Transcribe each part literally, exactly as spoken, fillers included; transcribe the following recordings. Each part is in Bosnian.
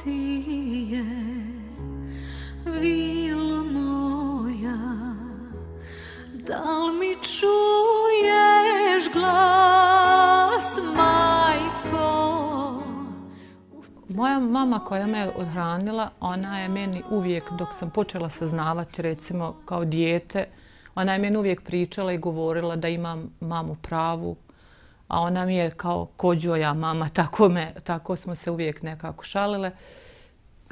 ti je vilo moja, da li mi čuješ glas, majko? Moja mama koja me odhranila, ona je meni uvijek, dok sam počela saznavati, recimo kao dijete, ona je meni uvijek pričala i govorila da imam mamu pravu, a ona mi je kao kođoja mama, tako, me, tako smo se uvijek nekako šalile.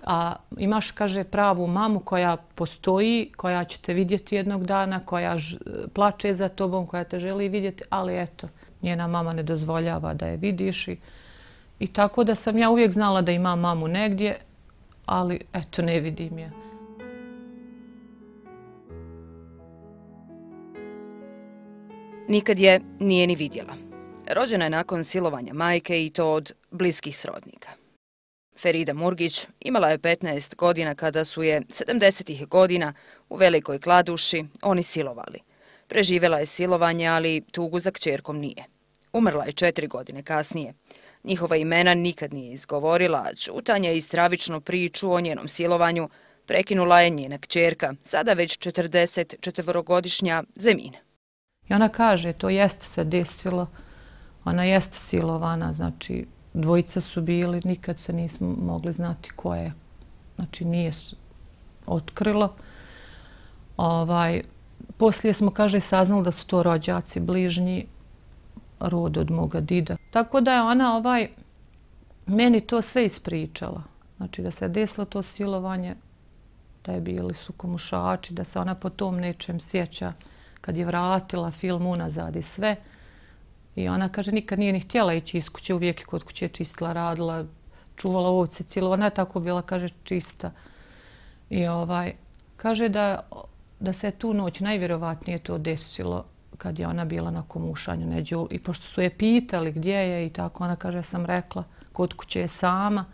A imaš, kaže, pravu mamu koja postoji, koja će te vidjeti jednog dana, koja ž, plače za tobom, koja te želi vidjeti, ali eto, njena mama ne dozvoljava da je vidiš. I, i tako da sam ja uvijek znala da imam mamu negdje, ali eto, ne vidim je. Nikad je nije ni vidjela. Rođena je nakon silovanja majke i to od bliskih srodnika. Ferida Murgić imala je petnaest godina kada su je sedamdesetih godina u Velikoj Kladuši oni silovali. Preživjela je silovanje, ali tugu za kćerkom nije. Umrla je četiri godine kasnije. Njihova imena nikad nije izgovorila, a ćutanje i stravičnu priču o njenom silovanju prekinula je njena kćerka, sada već četrdeset četvorogodišnja Zemina. I ona kaže, to jeste se desilo, ona jeste silovana, znači dvojica su bili, nikad se nismo mogli znati ko je, znači nije otkrilo. Ovaj, poslije smo, kaže, saznali da su to rođaci bližnji, rod od moga dida. Tako da je ona ovaj, meni to sve ispričala. Znači da se je desilo to silovanje, da je bili su komušači, da se ona po tom nečem sjeća kad je vratila film unazad i sve. I ona, kaže, nikad nije ni htjela ići iz kuće, uvijek je kod kuće čistila, radila, čuvala ovce, cijelo. Ona je tako bila, kaže, čista. I ovaj, kaže da, da se tu noć najvjerovatnije to desilo kad je ona bila na komušanju neđu. I pošto su je pitali gdje je i tako, ona kaže, sam rekla, kod kuće je sama.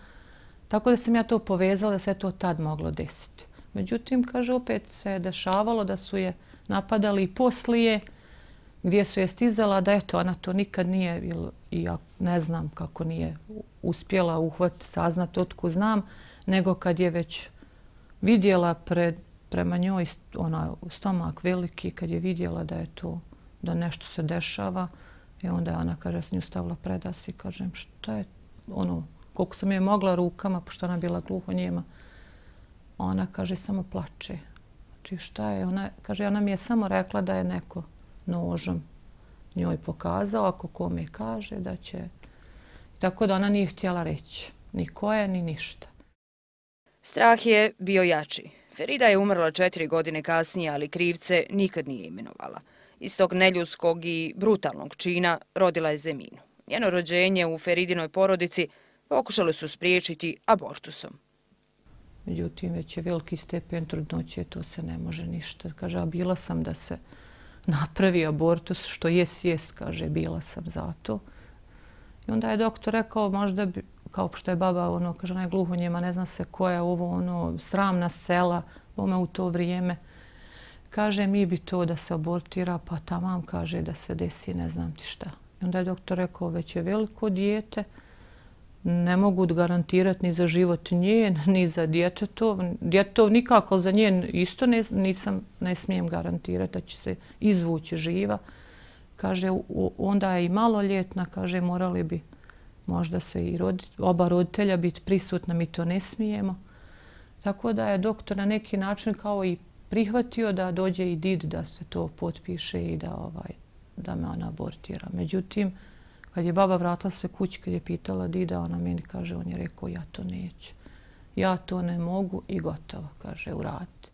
Tako da sam ja to povezala da se to tad moglo desiti. Međutim, kaže, opet se je dešavalo da su je napadali i poslije, gdje su je stizala, da eto, ona to nikad nije, i ja ne znam kako nije uspjela uhvatiti, saznati otko znam, nego kad je već vidjela pred, prema njoj ona, stomak veliki, kad je vidjela da je to, da nešto se dešava, i onda je ona, kaže, s nju stavila predas i kažem, šta je, ono, koliko sam je mogla rukama, pošto ona bila gluhonijema, ona, kaže, samo plače. Znači, šta je, ona, kaže, ona mi je samo rekla da je neko nožom njoj pokazao, ako kome kaže da će... Tako da ona nije htjela reći ni ko je, ni ništa. Strah je bio jači. Ferida je umrla četiri godine kasnije, ali krivce nikad nije imenovala. Iz tog neljudskog i brutalnog čina rodila je Zeminu. Njeno rođenje u Feridinoj porodici pokušali su spriječiti abortusom. Međutim, već je veliki stepen trudnoće, to se ne može ništa. Kaže, a bila sam da se napravi abortus, što jes, jes, kaže, bila sam za to. I onda je doktor rekao, možda bi, kao što je baba, ono, kaže, ona je gluhonjema, ne zna se koja je ovo, ono, sramna sela, bome u to vrijeme. Kaže, mi bi to da se abortira, pa tamam, kaže, da se desi, ne znam ti šta. I onda je doktor rekao, već je veliko dijete, ne mogu garantirati ni za život njen, ni za djetetov. Djetetov nikako za njen isto ne, nisam, ne smijem garantirati da će se izvući živa. Kaže, onda je i maloljetna, kaže, morali bi možda se i rodit, oba roditelja biti prisutna, mi to ne smijemo. Tako da je doktor na neki način kao i prihvatio da dođe i did da se to potpiše i da, ovaj, da me ona abortira. Međutim, kad je baba vratila se kući, kad je pitala dida, ona meni kaže, on je rekao, ja to neću. Ja to ne mogu i gotovo, kaže, uraditi.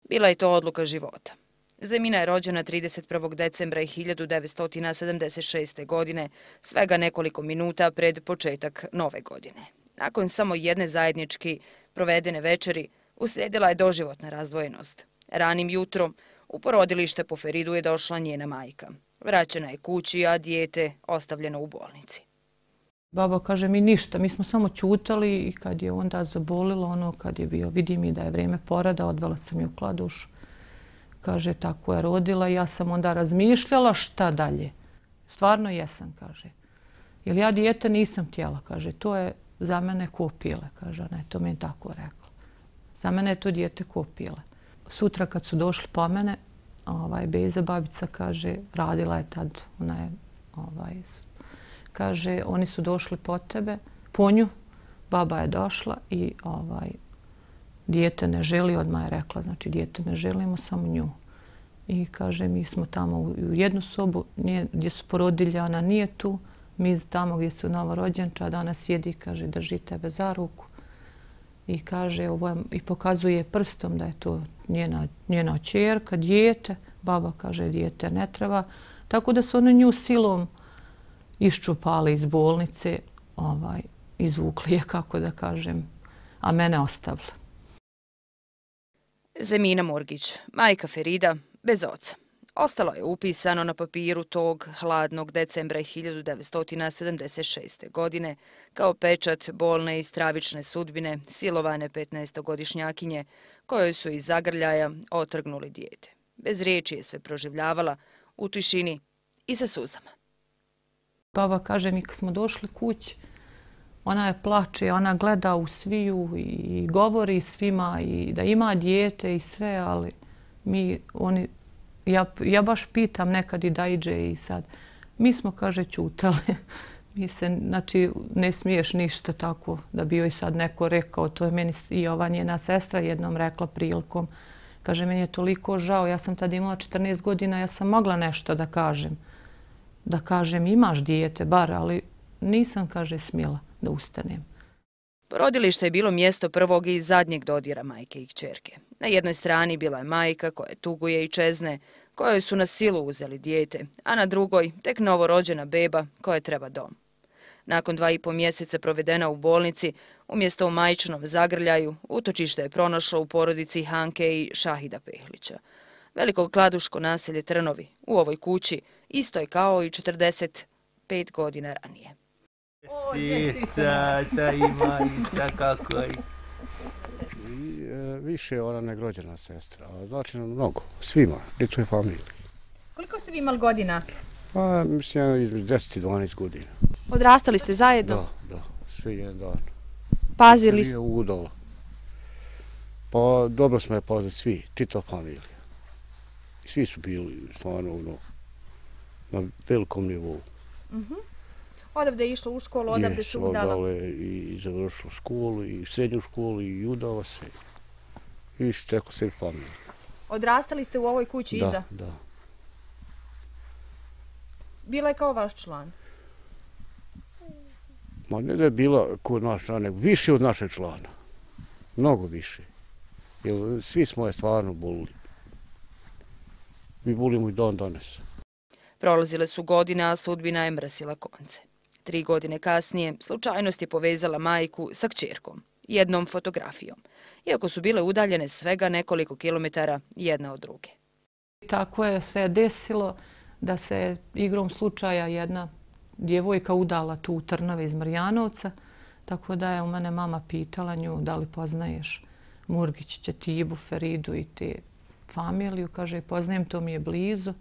Bila je to odluka života. Zemina je rođena trideset prvog decembra hiljadu devetsto sedamdeset šeste. godine, svega nekoliko minuta pred početak nove godine. Nakon samo jedne zajednički provedene večeri, uslijedila je doživotna razdvojenost. Ranim jutrom u porodilište po Feridu je došla njena majka. Vraćena je kući, a dijete ostavljeno u bolnici. Baba kaže mi ništa, mi smo samo čutali i kad je onda zabolilo, ono kad je bio, vidi mi da je vrijeme porada, odvela sam je u Kladušu. Kaže, tako je rodila. Ja sam onda razmišljala šta dalje. Stvarno jesam, kaže. Jer ja dijete nisam htjela, kaže. To je za mene ko pile, kaže ona, to mi je tako rekla. Za mene je to dijete ko pile. Sutra kad su došli po mene, ovaj, Beza babica kaže, radila je tad, ona je, ovaj, kaže, oni su došli po tebe, po nju, baba je došla i ovaj, dijete ne želi, odmah je rekla, znači dijete ne želimo, samo nju. I kaže, mi smo tamo u jednu sobu nije, gdje su porodilje, ona nije tu, mi tamo gdje su novorođenčad, ona sjedi, kaže, drži tebe za ruku. I kaže, ovo je, i pokazuje prstom da je to njena, njena ćerka, dijete. Baba kaže, dijete ne treba. Tako da su oni nju silom iščupali iz bolnice, ovaj, izvukli je, kako da kažem, a mene ostavili. Zemina Murgić, majka Ferida, bez oca. Ostalo je upisano na papiru tog hladnog decembra hiljadu devetsto sedamdeset šeste. godine kao pečat bolne i stravične sudbine silovane petnaestogodišnjakinje kojoj su iz zagrljaja otrgnuli dijete. Bez riječi je sve proživljavala u tišini i sa suzama. Baba kaže mi kad smo došli kući, ona je plače, ona gleda u sviju i govori svima i da ima dijete i sve, ali mi, oni, ja, ja baš pitam nekad i da iđe i sad. Mi smo, kaže, ćutali. Mi se, znači, ne smiješ ništa tako da bi joj sad neko rekao. To je meni i ova njena sestra jednom rekla prilikom. Kaže, meni je toliko žao, ja sam tada imala četrnaest godina, ja sam mogla nešto da kažem. Da kažem, imaš dijete, bar, ali nisam, kaže, smjela da ustanem. Porodilište je bilo mjesto prvog i zadnjeg dodira majke i kćerke. Na jednoj strani bila je majka koja tuguje i čezne, kojoj su na silu uzeli dijete, a na drugoj tek novorođena beba koja treba dom. Nakon dva i po mjeseca provedena u bolnici, umjesto u majčinom zagrljaju, utočište je pronašlo u porodici Hanke i Šahida Pehlića. Veliko kladuško naselje Trnovi u ovoj kući isto je kao i četrdeset pet godina ranije. Sica, ta imanica, kako je. Više je ona nego rođena sestra, znači mnogo, svima, djecoj familiji. Koliko ste vi imali godina? Pa, mislim, između deset i dvanaest godina. Odrastali ste zajedno? Da, da, svi jedan dan. Pazili ste? Svi je udala. Pa, dobro smo je poznati svi, Tito familija. Svi su bili, stvarno, ono, na velikom nivou. Uh-huh. Odavde je išlo u školu, odavde su udala? Odavde je i završila školu, i srednju školu, i udala se. I teko se familija. Odrastali ste u ovoj kući da, iza? Da, da. Bila je kao vaš član? Ma ne da je bila kod naš član, nego više od našeg člana. Mnogo više. Jer svi smo je stvarno bolili. Mi bolimo i dan danas. Prolazile su godine, a sudbina je mrsila konce. Tri godine kasnije slučajnost je povezala majku sa kćerkom, jednom fotografijom, iako su bile udaljene svega nekoliko kilometara jedna od druge. Tako je se desilo da se igrom slučaja jedna djevojka udala tu u Trnove iz Marjanovca, tako da je u mene mama pitala nju da li poznaješ Murgić, Ćetibu, Feridu i te familiju. Kaže, poznajem, to mi je blizu.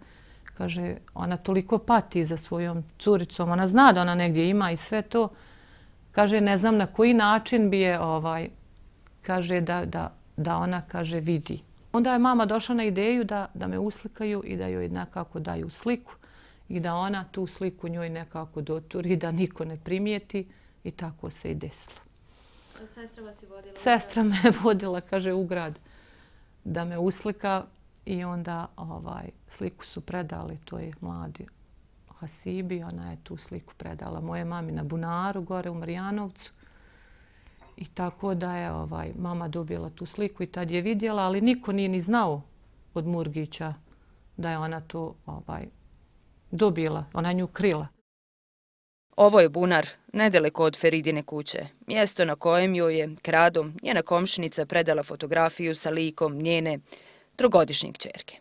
Kaže, ona toliko pati za svojom curicom, ona zna da ona negdje ima i sve to. Kaže, ne znam na koji način bi je, ovaj, kaže, da, da, da ona, kaže, vidi. Onda je mama došla na ideju da, da me uslikaju i da joj nekako daju sliku i da ona tu sliku njoj nekako doturi, da niko ne primijeti i tako se i desilo. Sestra vas je vodila? Sestra me je vodila, kaže, u grad da me uslika i onda ovaj, sliku su predali, to je mladi Hasibi, ona je tu sliku predala moje mami na bunaru gore u Marjanovcu. I tako da je ovaj, mama dobila tu sliku i tad je vidjela, ali niko nije ni znao od Murgića da je ona to ovaj, dobila, ona nju krila. Ovo je bunar, nedaleko od Feridine kuće, mjesto na kojem joj je kradom njena komšinica predala fotografiju sa likom njene trogodišnje kćerke.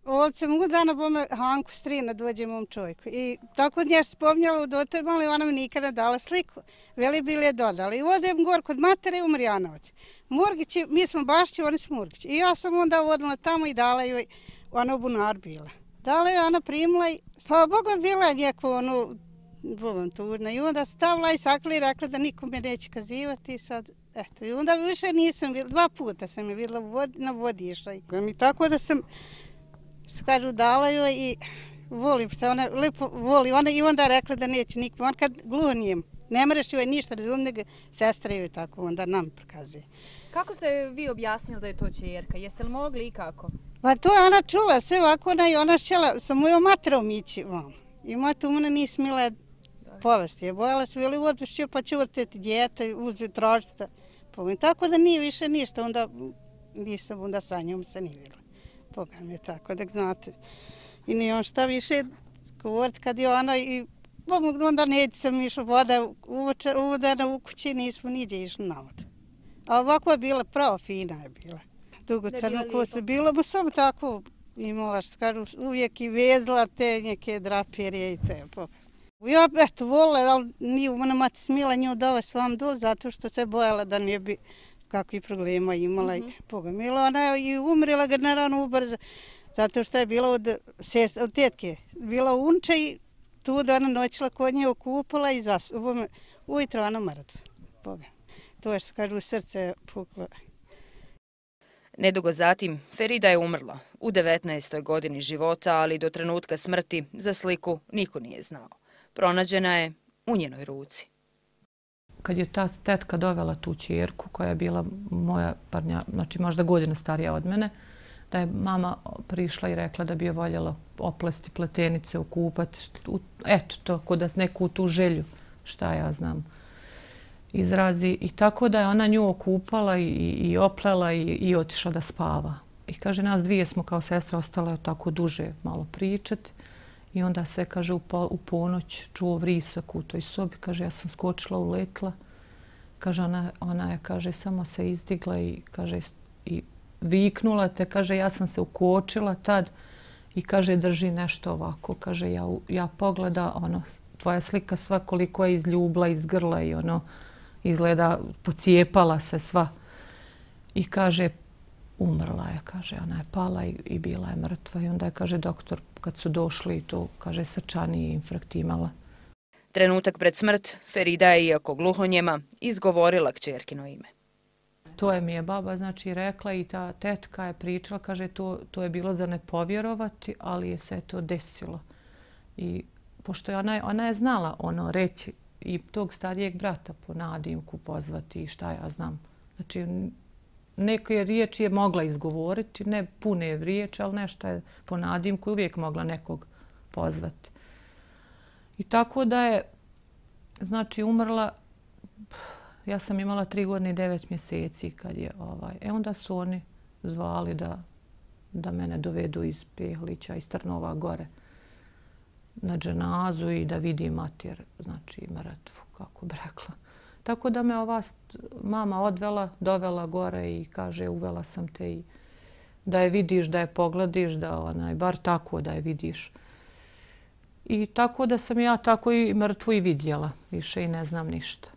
Ovdje se mogu dana bome Hanku strina dođe mom čovjeku. I tako nje spomnjala u dote mali, ona mi nikada dala sliku. Veli bili je dodala. I odem gor kod matere u Marjanovac. Murgići, mi smo Bašći, oni su Murgići. I ja sam onda odla tamo i dala joj, ona u bunar bila. Dala je ona primila i, slava Bogu, bila je njeko, ono, Bogom tužna. I onda stavila i sakla i rekla da nikome neće kazivati. Sad, eto, i onda više nisam vidjela, dva puta sam je vidjela vod, na vodi išla. I tako da sam, što kažu, dala joj i volim što ona lepo voli. Ona i onda rekla da neće nikome. On kad gluhonijem, ne moraš joj ništa razumjeti, nego sestra joj tako onda nam prokazuje. Kako ste vi objasnili da je to ćerka? Jeste li mogli i kako? Pa to je ona čula sve ovako, ona i ona šćela sa mojom materom ići vam. I moja tu ona nije smila povesti. Je bojala se, veli odvešću pa će vrteti djete, uzi tražiti. Tako da nije više ništa, onda nisam, onda sa njom se nije vidjela. Pogledam je tako, da znate. I nije on šta više govoriti kad je ona i onda neće sam išla voda uvodana u kući, nismo niđe išli na vodu. A ovako je bila, pravo fina je bila. Dugo crno kosu bilo, bo samo tako imala, što kažu, uvijek i vezla te neke draperije i te. Ja eto volila, ali nije ona mati smila nju dovesti vam dol, zato što se bojala da nije bi kakvi problema imala. Mm -hmm. Pogomila, ona je i umrila generalno ubrzo, zato što je bila od, sest, od tetke. Bila unča i tu da ona noćila kod nje okupala i zas, ujutro ona mrtva. To je što kažu, u srce puklo. Nedugo zatim, Ferida je umrla u devetnaestoj godini života, ali do trenutka smrti za sliku niko nije znao. Pronađena je u njenoj ruci. Kad je ta tetka dovela tu ćerku, koja je bila moja parnja, znači možda godina starija od mene, da je mama prišla i rekla da bi je voljela oplesti pletenice, okupati, eto to, kod da neku tu želju, šta ja znam, izrazi. I tako da je ona nju okupala i, i oplela i, i otišla da spava. I kaže, nas dvije smo kao sestra ostale tako duže malo pričati. I onda se, kaže, u, po, u ponoć čuo vrisak u toj sobi. Kaže, ja sam skočila, uletla. Kaže, ona, ona je, kaže, samo se izdigla i, kaže, i viknula te. Kaže, ja sam se ukočila tad i, kaže, drži nešto ovako. Kaže, ja, ja pogleda, ono, tvoja slika sva koliko je izljubla, izgrla i ono, izgleda, pocijepala se sva. I kaže, umrla je, kaže, ona je pala i, i bila je mrtva. I onda je, kaže, doktor, kad su došli i to, kaže, srčani infarkt imala. Trenutak pred smrt, Ferida je, iako gluhonjema, izgovorila kćerkino ime. To je mi je baba, znači, rekla i ta tetka je pričala, kaže, to, to je bilo za ne povjerovati, ali je se to desilo. I pošto je ona, ona je znala ono reći i tog starijeg brata po nadimku pozvati i šta ja znam. Znači, neke riječi je mogla izgovoriti, ne pune riječi, ali nešto je po nadimku uvijek mogla nekog pozvati. I tako da je, znači, umrla, ja sam imala tri godine i devet mjeseci kad je, ovaj, e onda su oni zvali da, da mene dovedu iz Pehlića, iz Trnova gore na dženazu i da vidi mater, znači, mrtvu, kako bi rekla. Tako da me ova mama odvela, dovela gore i kaže, uvela sam te i da je vidiš, da je pogledaš, da onaj, bar tako da je vidiš. I tako da sam ja tako i mrtvu i vidjela, više i ne znam ništa.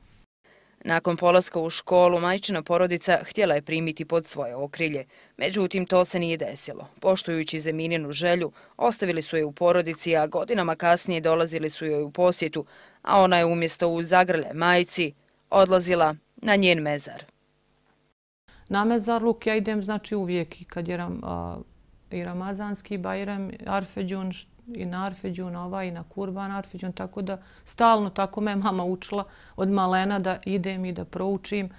Nakon polaska u školu, majčina porodica htjela je primiti pod svoje okrilje. Međutim, to se nije desilo. Poštujući Zemininu želju, ostavili su je u porodici, a godinama kasnije dolazili su joj u posjetu, a ona je umjesto u zagrlje majci odlazila na njen mezar. Na mezarluk ja idem, znači, uvijek i kad je ram, a, i Ramazanski Bajram, Arfeđun, i na Arfeđun ovaj, i na Kurban Arfeđun, tako da stalno tako me mama učila od malena da idem i da proučim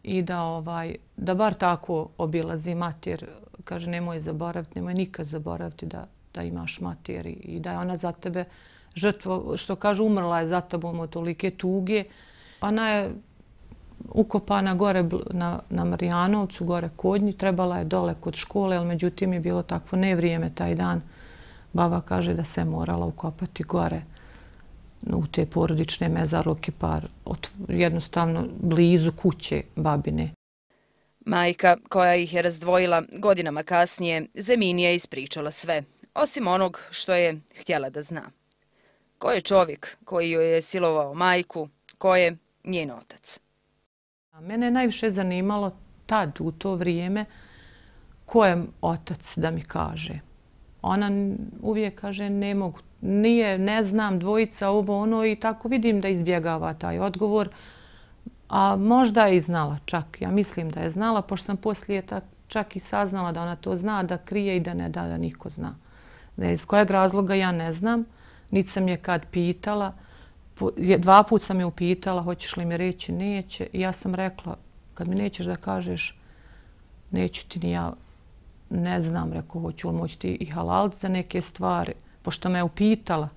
i da, ovaj, da bar tako obilazim mater. Kaže, nemoj zaboraviti, nemoj nikad zaboraviti da, da imaš mater i da je ona za tebe žrtvo, što kaže, umrla je za tobom od tolike tuge. Ona je ukopana gore na, na Marijanovcu, gore kod nje, trebala je dole kod škole, ali međutim je bilo takvo nevrijeme taj dan. Baba kaže da se morala ukopati gore u te porodične mezarluke, par jednostavno blizu kuće babine. Majka, koja ih je razdvojila godinama kasnije, Zemini je ispričala sve, osim onog što je htjela da zna. Ko je čovjek koji joj je silovao majku, ko je njen otac? Mene je najviše zanimalo tad, u to vrijeme, ko je otac da mi kaže. ona uvijek kaže ne mogu, nije, ne znam, dvojica, ovo, ono i tako vidim da izbjegava taj odgovor. A možda je i znala čak, ja mislim da je znala, pošto sam poslije čak i saznala da ona to zna, da krije i da ne da da niko zna. Iz kojeg razloga ja ne znam, niti sam je kad pitala. Dva put sam je upitala, hoćeš li mi reći, neće. I ja sam rekla, kad mi nećeš da kažeš, neću ti ni ja, ne znam, rekao, hoću li moći ti i halaliti za neke stvari. Pošto me je upitala,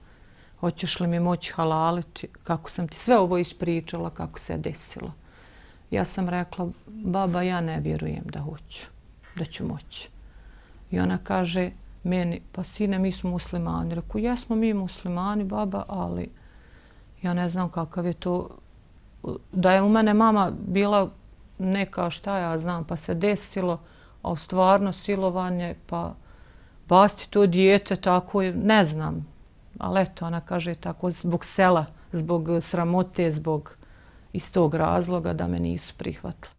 hoćeš li mi moći halaliti, kako sam ti sve ovo ispričala, kako se je desilo. Ja sam rekla, baba, ja ne vjerujem da hoću, da ću moći. I ona kaže meni, pa sine, mi smo muslimani. Rekao, jesmo mi muslimani, baba, ali ja ne znam kakav je to. Da je u mene mama bila neka, šta ja znam, pa se desilo, ali stvarno silovanje, pa basti to dijete, tako je, ne znam. Ali eto, ona kaže tako, zbog sela, zbog sramote, zbog iz tog razloga da me nisu prihvatili.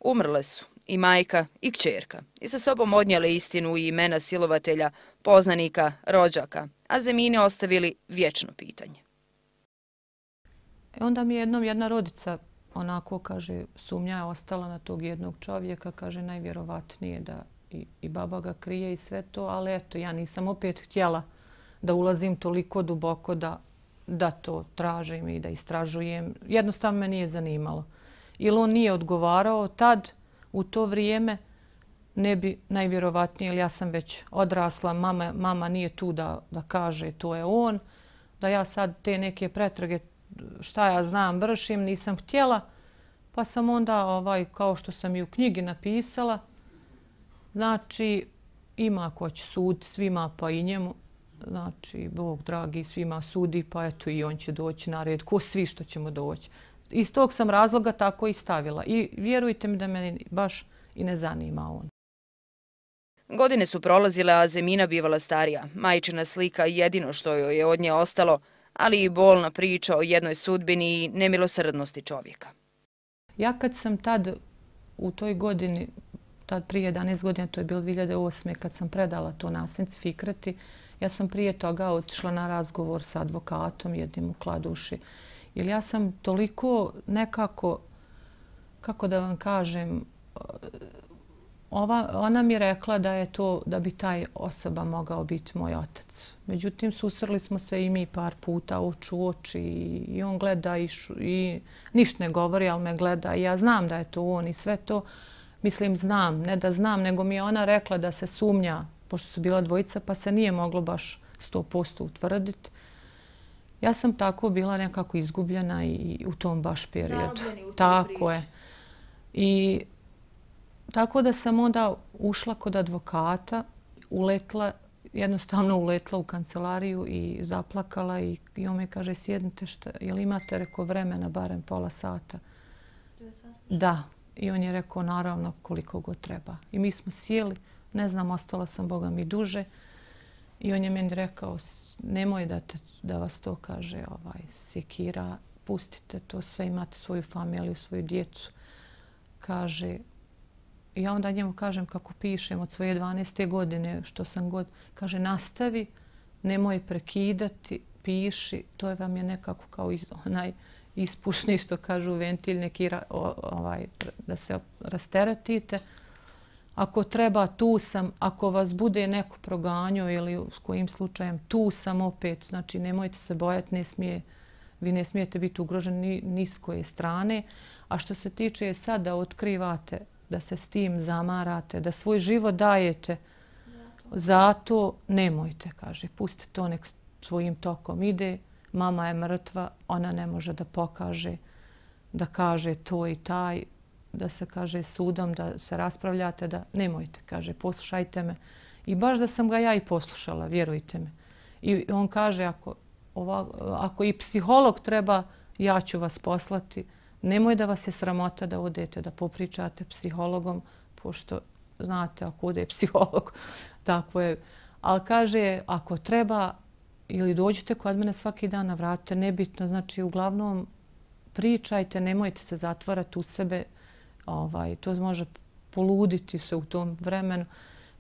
Umrle su i majka i kćerka i sa sobom odnijele istinu i imena silovatelja, poznanika, rođaka, a Zemini ostavili vječno pitanje. E onda mi jednom jedna rodica, onako kaže, sumnja je ostala na tog jednog čovjeka, kaže najvjerovatnije da i, i baba ga krije i sve to, ali eto, ja nisam opet htjela da ulazim toliko duboko da, da to tražim i da istražujem. Jednostavno me nije zanimalo. Ili on nije odgovarao tad, u to vrijeme, ne bi najvjerovatnije, ili ja sam već odrasla, mama, mama nije tu da, da kaže to je on, da ja sad te neke pretrage, šta ja znam, vršim, nisam htjela, pa sam onda, ovaj, kao što sam i u knjigi napisala, znači, ima ko će suditi svima, pa i njemu, znači, Bog dragi svima sudi, pa eto i on će doći na red, ko svi što ćemo doći. Iz tog sam razloga tako i stavila. I vjerujte mi da me baš i ne zanima on. Godine su prolazile, a Zemina bivala starija. Majčina slika jedino što joj je od nje ostalo, ali i bolna priča o jednoj sudbini i nemilosrdnosti čovjeka. Ja kad sam tad u toj godini, tad prije jedanaest godina, to je bilo dvije hiljade osme. kad sam predala to nasljednici Fikreti, ja sam prije toga otišla na razgovor sa advokatom jednim u Kladuši. Jer ja sam toliko nekako, kako da vam kažem, ova, ona mi je rekla da je to, da bi taj osoba mogao biti moj otac. Međutim, susreli smo se i mi par puta oči u oči i on gleda i, šu, i ništa ne govori, ali me gleda i ja znam da je to on i sve to. Mislim, znam, ne da znam, nego mi je ona rekla da se sumnja, pošto su bila dvojica, pa se nije moglo baš sto posto utvrditi. Ja sam tako bila nekako izgubljena i u tom baš periodu. Tako je. I tako da sam onda ušla kod advokata, uletla, jednostavno uletla u kancelariju i zaplakala i, i on me kaže, sjednite, šta, jel imate, rekao, vremena, barem pola sata? Da. I on je rekao, naravno, koliko god treba. I mi smo sjeli, ne znam, ostala sam, Boga mi, duže. I on je meni rekao, nemoj da, te, da vas to kaže ovaj, sekira, pustite to sve, imate svoju familiju, svoju djecu. Kaže, i ja onda njemu kažem kako pišem od svoje dvanaeste godine, što sam god, kaže, nastavi, nemoj prekidati, piši, to je vam je nekako kao iz, onaj ispušni, što kažu, ventilj, neki ovaj, da se rasteretite. Ako treba, tu sam. Ako vas bude neko proganjao ili s kojim slučajem, tu sam opet. Znači, nemojte se bojati, ne smije, vi ne smijete biti ugroženi ni s koje strane. A što se tiče sad da otkrivate, da se s tim zamarate, da svoj život dajete, zato, zato nemojte, kaže. Pustite to, nek svojim tokom ide. Mama je mrtva, ona ne može da pokaže, da kaže to i taj, da se kaže sudom, da se raspravljate, da nemojte, kaže, poslušajte me. I baš da sam ga ja i poslušala, vjerujte me. I on kaže, ako, ova, ako i psiholog treba, ja ću vas poslati. Nemoj da vas je sramota da odete, da popričate psihologom, pošto, znate, ako ode psiholog, tako je. Ali kaže, ako treba, ili dođite kod mene svaki dan, navratite, nebitno, znači, uglavnom, pričajte, nemojte se zatvarati u sebe, ovaj, to može poluditi se u tom vremenu.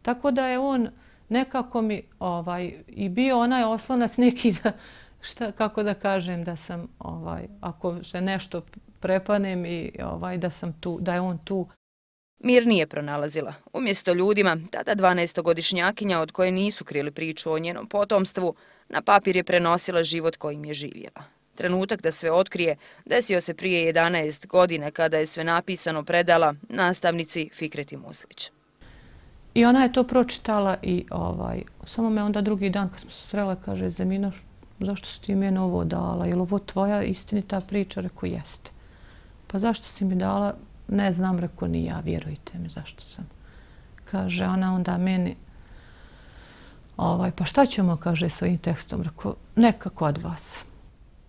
Tako da je on nekako mi ovaj, i bio onaj oslonac neki da, šta, kako da kažem, da sam, ovaj, ako se nešto prepanem i ovaj, da sam tu, da je on tu. Mir nije pronalazila. Umjesto ljudima, tada dvanaestogodišnjakinja od koje nisu krili priču o njenom potomstvu, na papir je prenosila život kojim je živjela. Trenutak da sve otkrije desio se prije jedanaest godina kada je sve napisano predala nastavnici Fikreti Muslić. I ona je to pročitala i ovaj, samo me onda drugi dan kad smo se srela kaže Zemina, zašto si ti mene ovo dala? Je li ovo tvoja istinita priča? Rekao, jeste. Pa zašto si mi dala? Ne znam, rekao, ni ja, vjerujte mi zašto sam. Kaže ona onda meni, ovaj, pa šta ćemo, kaže, s ovim tekstom? Rekao, neka kod vas.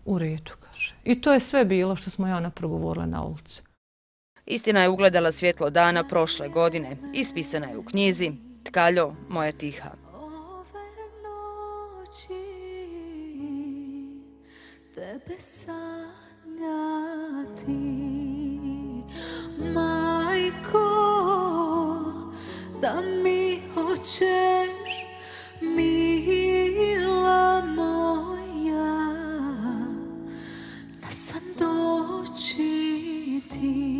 U redu, kaže. I to je sve bilo što smo i ona progovorila na ulici. Istina je ugledala svjetlo dana prošle godine. Ispisana je u knjizi Tkaljo, moja tiha. Ove noći tebe sanjati, majko, da mi hoćeš, mila moja, da sam doći ti.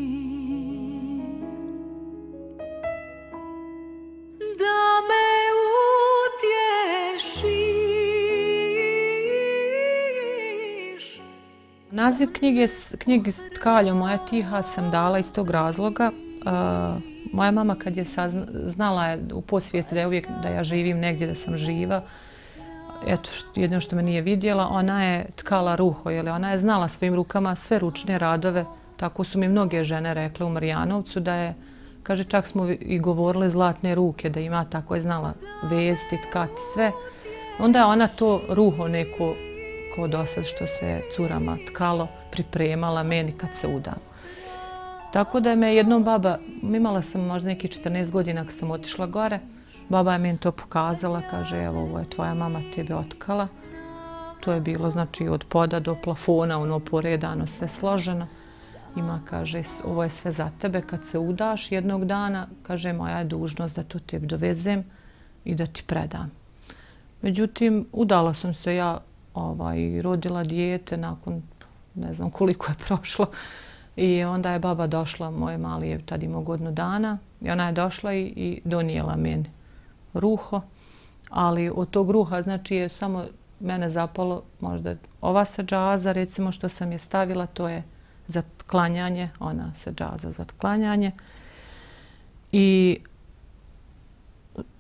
Da me utješiš. Naziv knjige, knjigi Tkaljo, moja tiha sam dala iz tog razloga. Uh, moja mama kad je sazna, znala je u podsvijesti da je uvijek da ja živim negdje, da sam živa, eto jedino što me nije vidjela, ona je tkala ruho, jer ona je znala svojim rukama sve ručne radove, tako su mi mnoge žene rekle u Marijanovcu da je, kaže, čak smo i govorile zlatne ruke, da ima, tako je znala vezti, tkati, sve. Onda je ona to ruho neko, ko dosad što se curama tkalo, pripremala meni kad se udam. Tako da je me jednom baba, imala sam možda neki četrnaest godina kad sam otišla gore, baba je meni to pokazala, kaže, evo, ovo je tvoja mama tebe otkala. To je bilo, znači, od poda do plafona, ono poredano, sve složeno. Ima, kaže, ovo je sve za tebe, kad se udaš jednog dana, kaže, moja je dužnost da to tebi dovezem i da ti predam. Međutim, udala sam se ja, ovaj, rodila dijete nakon, ne znam koliko je prošlo, i onda je baba došla, moj mali je tad imao godinu dana, i ona je došla i, i donijela meni ruho, ali od tog ruha, znači, je samo mene zapalo, možda ova sadžaza, recimo, što sam je stavila, to je za klanjanje, ona se džaza za klanjanje i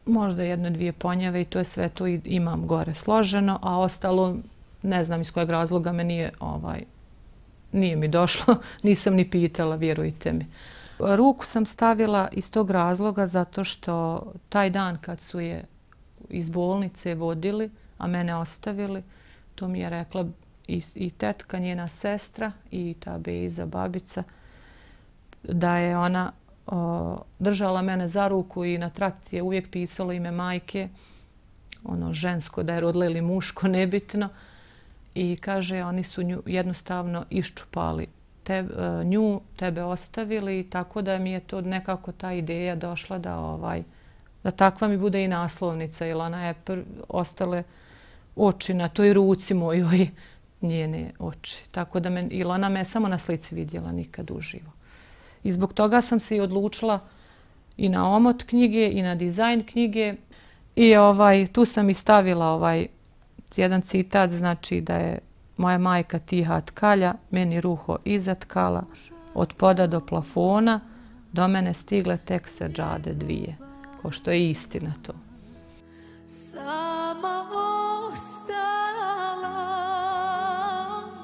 možda jedno, dvije ponjave i to je sve to imam gore složeno, a ostalo ne znam iz kojeg razloga me nije, ovaj, nije mi došlo, nisam ni pitala, vjerujte mi. Ruku sam stavila iz tog razloga zato što taj dan kad su je iz bolnice vodili, a mene ostavili, to mi je rekla I, i tetka, njena sestra i ta Bejza, babica, da je ona o, držala mene za ruku i na trakci je uvijek pisalo ime majke, ono žensko, da je rodila ili muško, nebitno. I kaže, oni su nju jednostavno iščupali te, nju, tebe ostavili, tako da mi je to nekako ta ideja došla da, ovaj, da takva mi bude i naslovnica, jer ona je pr ostale oči na toj ruci mojoj, njene oči. Tako da me, ili ona me samo na slici vidjela, nikad uživo. I zbog toga sam se i odlučila i na omot knjige i na dizajn knjige. I ovaj, tu sam i stavila ovaj jedan citat, znači da je moja majka tiha tkalja, meni ruho iza tkala, od poda do plafona, do mene stigle tek seđade dvije. Ko što je istina to. Sama ostala,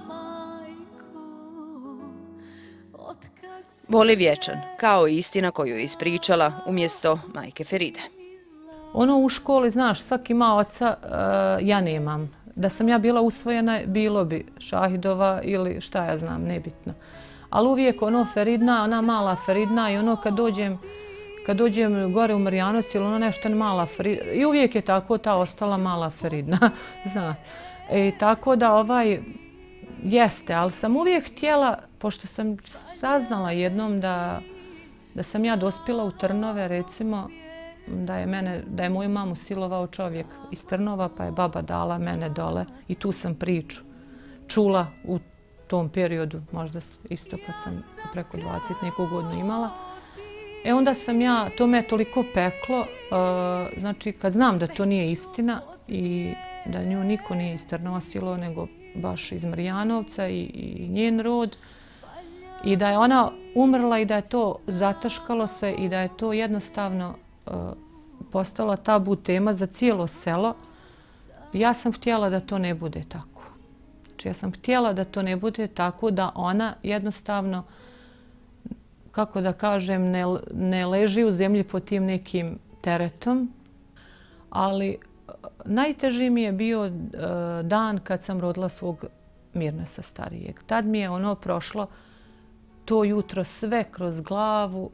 majko, otkad si... Boli vječan, kao i istina koju je ispričala umjesto majke Feride. Ono u školi, znaš, svaki ima oca, uh, ja nemam. Da sam ja bila usvojena, bilo bi Šahidova ili šta ja znam, nebitno. Ali uvijek ono Feridna, ona mala Feridna i ono kad dođem, kad dođem gore u Marijanovac ili ono nešto mala Feridna, i uvijek je tako ta ostala mala Feridna, znaš. I tako da ovaj, jeste, ali sam uvijek htjela, pošto sam saznala jednom da, da sam ja dospjela u Trnove, recimo, da je, mene, da je moju mamu silovao čovjek iz Trnova, pa je baba dala mene dole i tu sam priču čula u tom periodu, možda isto kad sam preko dvadeset neku godinu imala. E onda sam ja, to me je toliko peklo, uh, znači kad znam da to nije istina i da nju niko nije iz Trnova silovao, nego baš iz Marjanovca i, i njen rod, i da je ona umrla i da je to zataškalo se i da je to jednostavno uh, postala tabu tema za cijelo selo. Ja sam htjela da to ne bude tako. Znači ja sam htjela da to ne bude tako, da ona jednostavno, kako da kažem, ne, ne leži u zemlji pod tim nekim teretom. Ali najteži mi je bio uh, dan kad sam rodila svog Mirnesa starijeg. Tad mi je ono prošlo to jutro sve kroz glavu,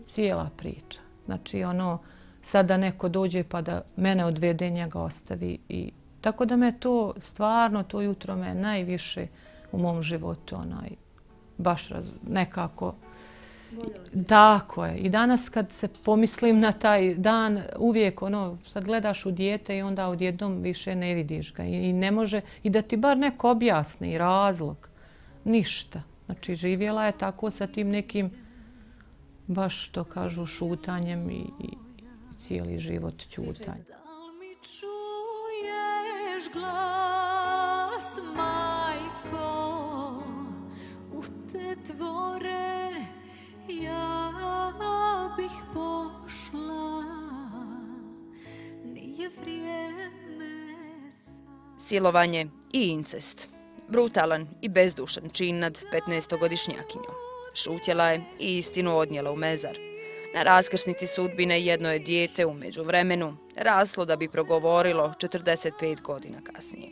cijela priča. Znači ono, sada neko dođe pa da mene odvede, njega ostavi. I tako da me to, stvarno, to jutro me najviše u mom životu onaj, baš raz, nekako... Tako je. I danas kad se pomislim na taj dan, uvijek ono, sad gledaš u dijete i onda odjednom više ne vidiš ga. I ne može, i da ti bar neko objasni razlog. Ništa. Znači živjela je tako sa tim nekim, baš što kažu, šutanjem i, i cijeli život ćutanje. Da li mi čuješ glas, majko, u te dvore ja bih pošla, nije vrijeme sad. Silovanje i incest. Brutalan i bezdušan čin nad petnaestogodišnjakinjom. Šutjela je i istinu odnijela u mezar. Na raskrsnici sudbine jedno je dijete u međuvremenu raslo da bi progovorilo četrdeset pet godina kasnije.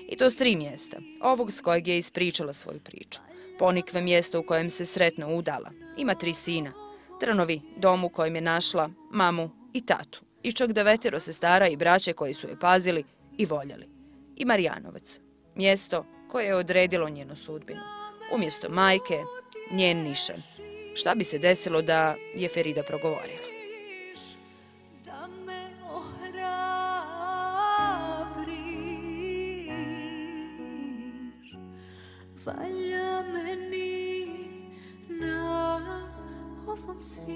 I to s tri mjesta, ovog s kojeg je ispričala svoju priču. Ponikve mjesto u kojem se sretno udala. Ima tri sina. Trnovi, dom u kojem je našla mamu i tatu. I čak devetero sestara i braće koji su je pazili i voljeli. I Marjanovac. Mjesto koje je odredilo njenu sudbinu. Umjesto majke, njen nišan. Šta bi se desilo da je Ferida progovorila? Da me ohrabriš, valja meni na ovom svijetu.